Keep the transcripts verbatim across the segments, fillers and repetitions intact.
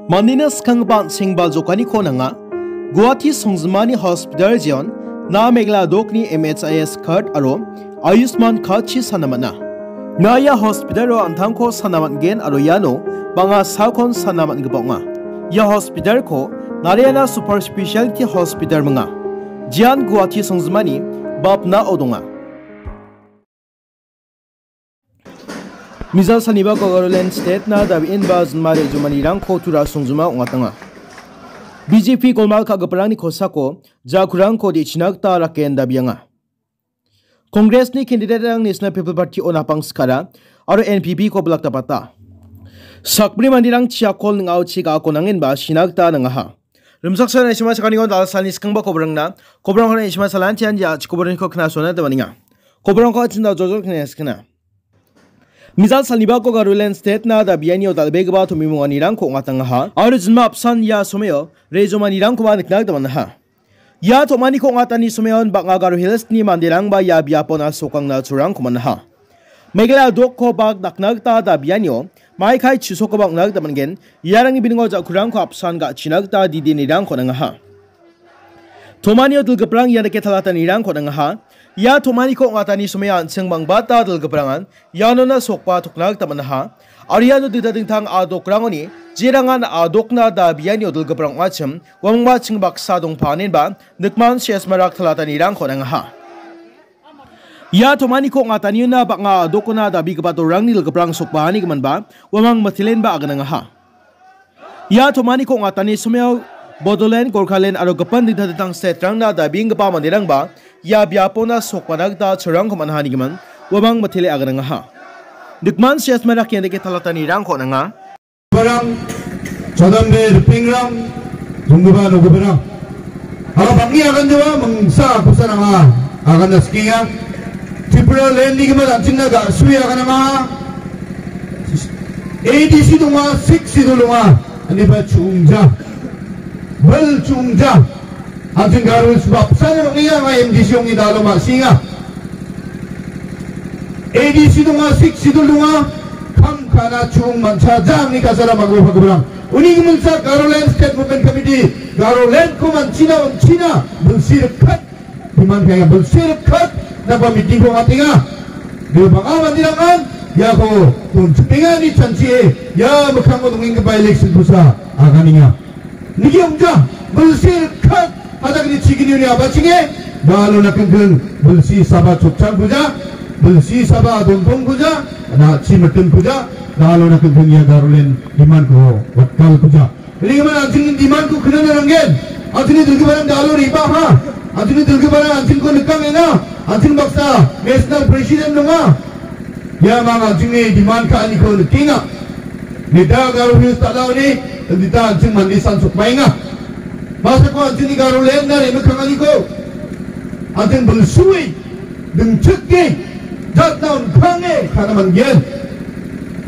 Mandina skanggipa an·sengba jokaniko nanga. Guwahati songjinmani hospital jeon, na Meghalaya dokni M H I S card aro Ayushman card-chi sana man·a. Na ia hospital-o an·tangko sana man·gen aro iano bang·a salkon sana man·gipa ong·a. Ia hospital-ko Narayana Super Specialty Hospital minga. Jeon Guwahati songjinmani bapnao donga. Mejal salnibako Garoland State-na dabienba jinma re·jomanirangko tura songjima ong·atanga. B J P golmal ka·giparangni kosako jakurangko de·china gita raken dabianga. Congress-ni candidate-rang National People Party-o napang sikara aro N P P-ko bilak dapata. Sakbri manderang chiakol ning·aochi ga·ako nangenba sina gita nangaha. Rimchaksoa naisima sakaniko dal salni skangba kobrangna, kobrangko naisima salantian ja chikoborniko knasoana dabaninga. Kobrangko achinda jojol kena skena. Mejal salnibako Garoland State-na dabianio dal·begipa tomimonganirangko ong·atangaha. Aro jinma apsan ia someo rejomanirangkoba nikna gita man·aha. Ia tomaniko ong·atani someon bang·a Garo Hills-ni manderangba ia biapona sokangna churangko man·aha. Meghalaya dokko bak dakna gita dabianio maikai chisokoba ong·na gita man·gen. Iarangni biningo jakurangko apsan ga·china gita didinirangko nangaha. Tomanio dilgiprang ia dake talatanirangko nangaha. Ia tomaniko ong·atani somea an·ching bangbata dilgiprangan ianona sokba tokna gita man·aha. Aro iano dingtang dingtang a·dokrangoni jerangan a·dokna dabianio dilgiprang ong·achim, uamangba ching baksa dongpa anenba nikman siasmarak talatanirangko nangaha. Ia tomaniko ong·ataniona bang·a a·dokona dabigipa dorangni dilgiprang sokbaani giminba uamang mitelenba aganangaha. Ia tomaniko ong·atani someo Bodoland, Gorkhaland aro gipin dingtang dingtang state-rangna dabienggipa manderangba ia biapona sokbana gita churangko man·aha nigimin uamang mitele aganangaha. Nikman siasmarak ian dake talatanirangko nanga. Barang, jadambe ripengrang, donggipa nogiparang. Aro bang·e aganjoa mingsa kosa nanga agana sikenga. Tripura land-ni gimin an·chingna ga·sue aganama. A D C donga, Sixth Schedule donga. Aniba chungja. Bel chungja. An·ching Garo Hills bapsana bang·enga, anga M D C ong·e dalo ma·senga. A D C donga, Sixth Schedule donga, kam ka·na chung manchaja angni kasara mago pagiparang. Uni giminsa Garoland State Movement Committee, Garoland-ko manchina, on·china, bilsi rikhat, demand ka·enga, bilsi rikhat, naba meeting-ko ong·atenga. Bang·a manderangan iako donchipenga ine chanchie, ia mikkango dongenggipa election-kosa aganenga. Nigi ong·ja, bilsi rikhat, hajakni chigini uni abachinge, dalo nakinkin, bilsi saba chotchangkuja, bilsi saba dontongkuja, na·chi mitingkuja, dalo nakinkin ia Garoland demand-ko watkalkuja. Uni gimin an·chingni demand-ko knana nanggen, an·chingni dilgiparang dalo re·baha, an·chingni dilgiparang an·chingko nikangenga, an·ching baksa national president donga. Ia mang an·chingni demand ka·aniko nikenga. Neta Garo Hills dal·aoni, neta an·ching mande san sokbaenga. Masako an·chingni Garoland-na re·mikkanganiko an·ching bilsue, dingchike, jatna on·kange ka·na man·gen.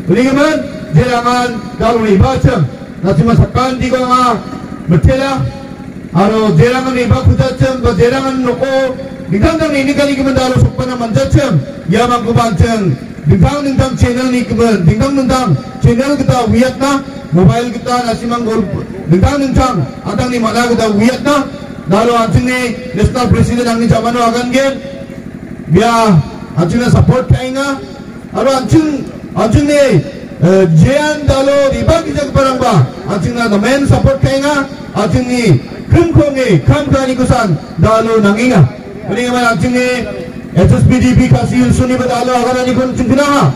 Uni gimin, jerangan dalo re·bachim, na·simang sakantiko anga mitela. Aro jerangan re·bakujachim, ba jerangan noko dingtang dingtang re·mikanigimin dalo sokbana man·jachim. Ia mangkoba an·ching dingtang dingtang channel-ni gimin, dingtang dingtang channel gita uiatna, mobile gita na·simang gol-, dingtang dingtang an·tangni man·a gita uiatna, dalo an·chingni national president angni jamano agangen. Bia an·chingna support ka·enga. Aro an·ching, an·chingni, eh, jean dalo re·bagijagiparangba an·chingna namen support ka·enga. An·chingni krimko ong·e kam ka·anikosan dalo nangenga. Uni gimin an·chingni H S P D P Khasi Hills-oniba dalo agananiko an·ching knaha.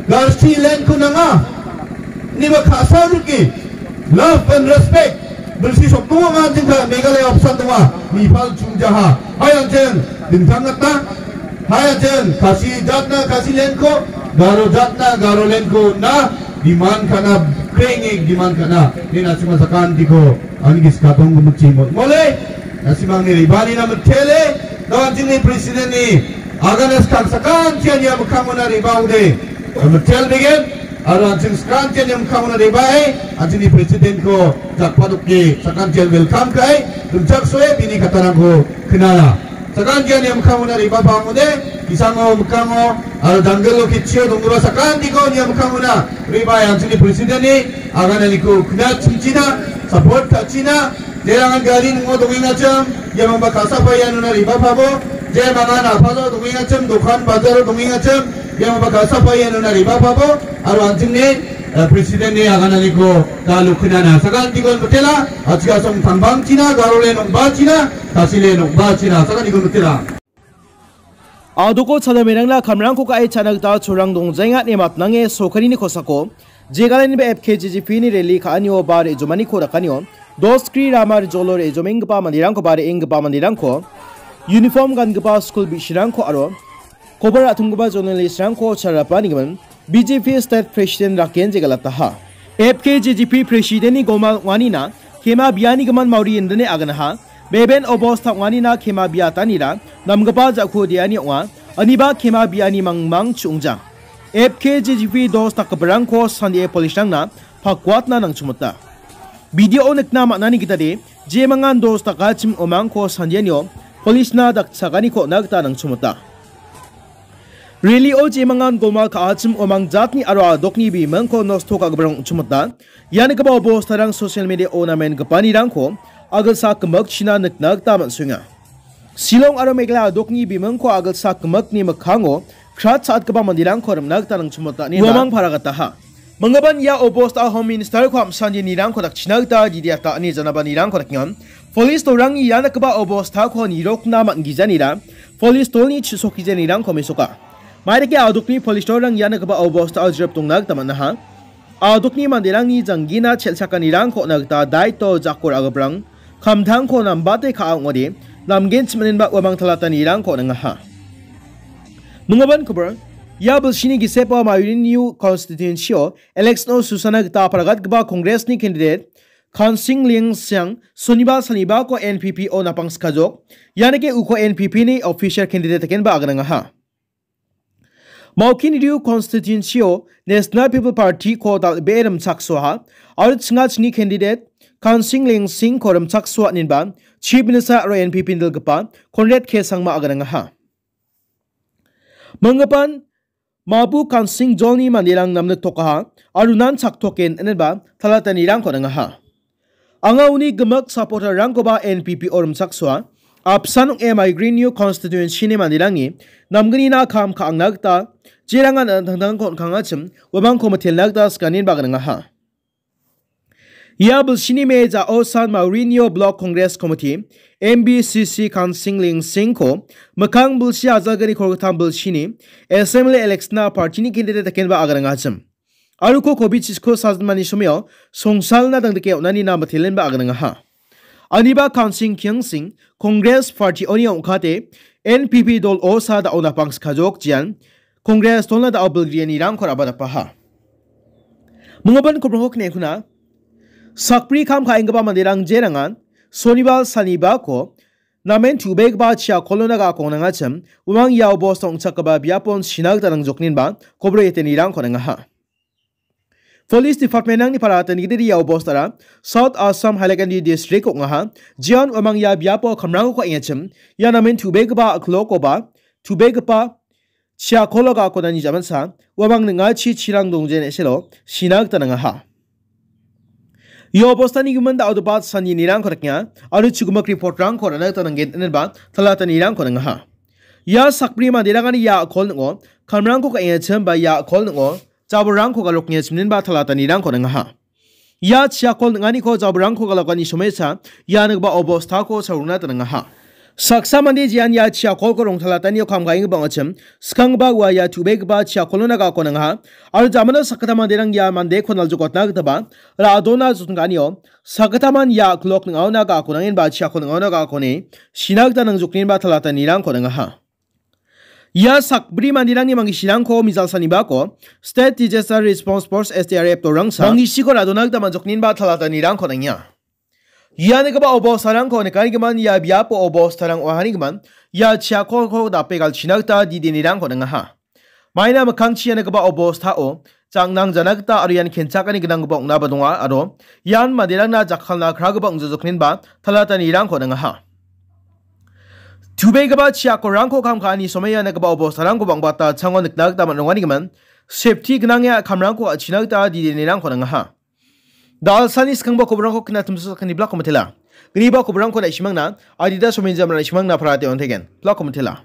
Garsi land-ko nanga. Niba ka·sa rike. Love and respect. Bilsi sokdonga an·ching ka Meghalaya opsan donga. Nipal chungjaha. Hai an·ching dingtang gita. Hai an·ching Khasi jatna Khasi land-ko, Garo jatna Garo land-ko na demand ka·na, krenge demand ka·na. Ni na·simang sakantiko angni gisikatong gumutchi mo-, mole. Na·simangni re·baanina mitele. Na an·chingni president-ni agana skang sakantian ia mikkangona re·baode. Mitel begen. Aro an·ching sakantian ia mikkangona re·bae, an·chingni president-ko jakpadoke sakantian welcome ka·e, rimchaksoe bini katarangko knala. Sakantian ia mikkangona re·bapangode, bisango mikkango, aro janggilo ketchio donggipa sakantiko ia mikkangona re·bae an·chingni presidentni agananiko knatchingchina, support ka·china, jerangan gari ning·o dongengachim, iamangba ka·sapae ianona re·bapabo, jemangan a·palo dongengachim, dokan bajaro dongengachim, iamangba ka·sapae ianona re·bapabo, aro an·chingni, eh, presidentni agananiko da lukinana. Sakantikon mitela, achikasong tangbangchina, garole nongbachina, Kasile nokba china sakaniko mitela. Adoko chadamerangna kamrangko ka·e cha·na gita chorang dongjaenga ine matnange sorkarini kosako jegalaniba F K J G P ni rally ka·anio ba re·jomaniko dakanio doskri rama rijolo re·jomenggipa manderangko ba re·enggipa manderangko uniform gangipa skul bi·sirangko aro kobar ra·tonggipa journalistrangko charapanigimin B J P State President Raken jegalataha. F K J G P Presidentni gomal ong·anina kema bianigimin Mauri indine aganaha. Beben obosta ong·anina kema biatanira namgipa ja·ko deani ong·a. Aniba kema biani mangmang chu·ongja. F K J G P dos dakgiparangko sandie police-rangna pakuatna nangchimota. Video-o nikna man·ani gitade, jemangan dos dakachim omangko sandianio police-na dakchakaniko on·a gita nangchimota. Rally-o jemangan gomal ka·achim omang jatni aro a·dokni bimingko nosto ka·giparang ong·chimota. Ia nikgipa obostarang social media-o namengipanirangko agilsa gimikchina nikna gita man·soenga. Shillong aro Meghalaya a·dokni bimingko agilsa gimikni mikkango krat cha·atgipa manderangko rimna gita nangchimota ine uamang paragataha. Minggipan ia obosta Home Minister-ko am·sangenirangko dakchina gita didiata ine janabanirangko dakenga. Police dolrangni ia nikgipa obostako nirokna man·gijanira police dolni chu·sokgijanirangko mesoka. Maidake a·dokni police dolrang ia nikgipa obostao jrep dongna gita man·aha. A·dokni manderangni janggina chel·chakanirangko on·a gita daito jako ra·giparang kamtangko nambate ka·a ong·ode, namgenchim inenba uamang talatanirangko on·angaha. Minggipan kobor, ia bilsini gisepo Mauri New Constituency-o election-o susana gita aparagatgipa Congress-ni candidate Kansing Lingsing Sonibar salnibako N P P-o napangskajok, ianike uko N P P-ni official candidate dakenba aganangaha. Maukin Riew Constituency-o National People Party-ko dal·bee rimchaksoaha, aro chingachini candidate Kansing Lingsing-ko rimchaksoa inenba Chief Minister aro N P P indilgipa Conrad K Sangma aganangaha. Minggipan Mabu Kansing jolni manderang namniktokaha, aro nan chaktoken inenba talatanirangko on·angaha. Anga uni gimik supporter-rangkoba N P P-o rimchaksoa, apsan ong·e Mauri New Constituency-ni manderangni namgnina kam ka·angna gita jerangan an·tangtangko on·kangachim uamangko mitelna gita sikanin baganangaha. Ia bilsini me ja·o san Mauri New Block Congress Committee, M B C C Kansing Lingsing-ko mikkang bilsi ajalgni kolgittam bilsini Assembly election-a party-ni candidate dakenba aganangachim. Aro uko covid chisko sajinmani somio songsalna dangdike on·anina mitelenba aganangaha. Aniba Kansing Kiangsing Congress party-oni ong·kate N P P dol-o sa da·o napangskajok jian Congress dolna da·o bilgrianirangko rabadapaha. Minggipan kobrangko knekkuna sakbri kam ka·enggipa manderang jerangan Sonibar salnibako namen tu·begipa chiakolona ga·ako nangachim, uamang ia obosta ong·chakgipa biapon sina gita nangjokninba kobor etenirangko nangaha. Police Department-rangni para tenggidiri ia obostara South Assam Hailakandi District ong·aha. Jeon uamang ia biapo kamrangko ka·engachim, ia namen tu·begipa a·klokoba tu·begipa chiakolo ga·akonani jamansa uamang ning·achi chirang dongjen eselo sina gita nangaha. Ia obostani gimin da·odoba sanginirangko dakenga aro chugimik report-rangko ra·na gita nanggen inenba talatanirangko nangaha. Ia sakbri manderangani ia a·kol ning·o kamrangko ka·engachim ba ia a·kol ning·o jabolrangko galokengachim inenba talatanirangko nangaha. Ia chiakol ning·aniko jabolrangko galakani somoisa ia nikgipa obostako saurona donangaha. Saksa mande jean ia chiakolko rongtalatanio kam ka·enggipa ong·achim, skanggipa ua ia tu·begipa chiakolona ga·ako nangaha. Aro jamano sakgittam manderang ia mandeko naljokatna gitaba ra·dona jotongka·anio sakgittaman ia a·kolok ning·aona ga·ako nangenba chiakol ning·aona ga·akoni sina gita nangjokninba talatanirangko nangaha. Ia sakbri manderangni mangisirangko mijalsanibako State Disaster Response Force, S D R F, dolrangsa mangisiko ra·dona gita man·jokninba talatanirangko nangenga. Ia nikgipa obostarangko nikanigimin ia biapo obostarang ong·ahanigimin ia chiakolko dape galchina gita didenirangko nangaha. Maina mikkangchi ia nikgipa obostao jangnang jana gita aro ian kenchakani gnanggipa ong·naba donga aro ian manderangna jakkalna kragipa ong·jajokninba talatanirangko nangaha. Chubegipa chiakorangko kam ka·ani somoiana gipa obostarangko bang·bata chango nikna gita man·ronganigimin, safety gnang ia kamrangko ka·china gita didenirangko nangaha. Dalsani skangba koborangko kina timso sakani blako mitela. Griba koborangko na·simangna, adita somenjamra na·simangna parate ontegen. Blako mitela.